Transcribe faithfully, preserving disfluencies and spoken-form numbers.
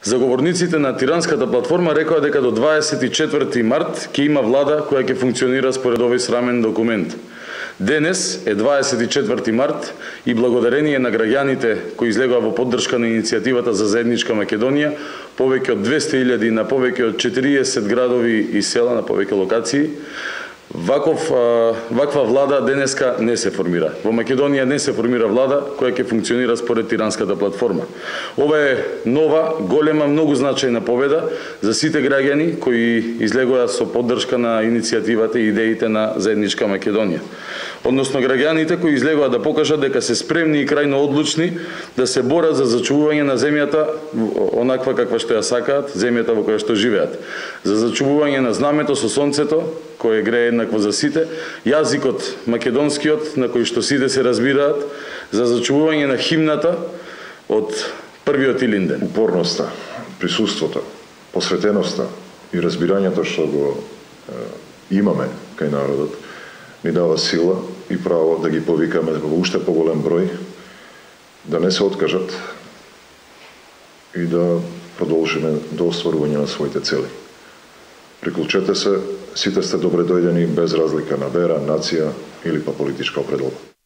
Заговорниците на Тиранската платформа рекоа дека до дваесет и четврти март ќе има влада која ќе функционира според овој срамен документ. Денес е дваесет и четврти март и благодарение на граѓаните кои излегоа во поддршка на иницијативата за заедничка Македонија, повеќе од двесте илјади на повеќе од четириесет градови и села на повеќе локации, Ваков, ваква влада денеска не се формира. Во Македонија не се формира влада која ќе функционира според Тиранската платформа. Ова е нова, голема, многу значајна победа за сите граѓани кои излегоа со поддршка на иницијативата и идеите на заедничка Македонија. Односно граѓаните кои излегоа да покажат дека се спремни и крајно одлучни да се борат за зачувување на земјата онаква каква што ја сакаат, земјата во која што живеат. За зачувување на знамето со сонцето, кој грее еднакво за сите, јазикот македонскиот на кој што сите се разбираат, за зачувување на химната од првиот Илинден. Упорноста, присуството, посветеноста и разбирањето што го е, имаме кај народот ни дава сила и право да ги повикаме во уште поголем број, да не се откажат и да продолжиме до остварување на своите цели. Приклучете се, сите сте добре дојдени без разлика на вера, нација или па политичка определба.